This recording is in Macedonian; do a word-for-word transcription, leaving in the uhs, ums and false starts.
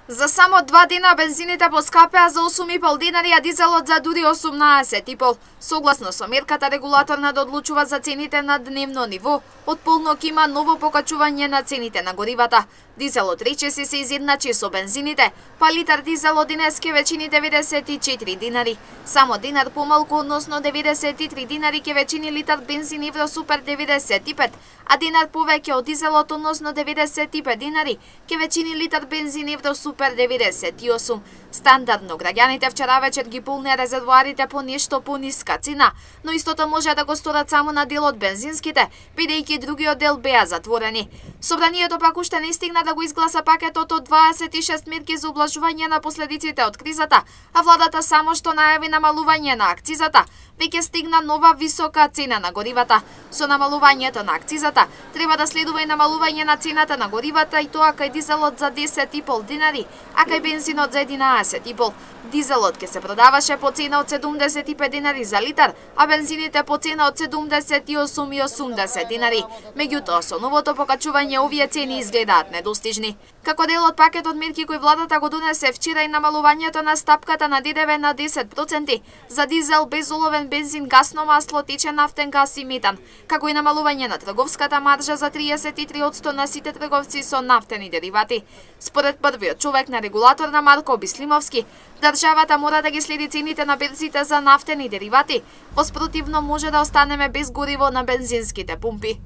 За само два дена бензините поскапеа за осум и пол динари, а дизелот за дури осумнаесет и пол. Согласно со мерката, регулаторна да одлучува за цените на дневно ниво, од полнок има ново покачување на цените на горивата. Дизелот речиси се изедначи со бензините, па литар дизел од денеска веќе деветдесет и четири динари. Само динар помалку, односно деветдесет и три динари ке веќе литар бензин Евросупер деветдесет и пет, а динар повеќе од дизелот, односно деветдесет и пет динари, ке веќе литар бензин Евросупер деветдесет и осум. Стандардно граѓаните вчера вечер ги полнеа резервоарите по нешто пониска цена, но истото може да го сторат само на дел од бензинските, бидејќи другиот дел беа затворени. Собранието пак уште не стигна да го изгласа пакетот од дваесет и шест мерки за облажување на последиците од кризата, а владата само што најави намалување на акцизата, веќе стигна нова висока цена на горивата. Со намалувањето на акцизата треба да следува и намалување на цената на горивата, и тоа кај дизелот за десет и пол динари, а кај бензинот за единаесет и пол. Дизелот ке се продаваше по цена од седумдесет и пет динари за литар, а бензините по цена од седумдесет и осум и осумдесет динари. Меѓутоа, со новото покачување овие цени изгледаат недостижни. Како дел од пакетот мерки кој владата го донесе вчера и намалувањето на стапката на ДДВ на десет проценти за дизел, безоловен бензин, гасно масло, течен нафтен газ и метан, како и намалување на трговската маржа за триесет и три одсто на сите трговци со нафтени деривати. Според првиот човек на регулаторна Марко Бислимовски, државата мора да ги следи цените на берзите за нафтени деривати, во спротивно може да останеме без гориво на бензинските пумпи.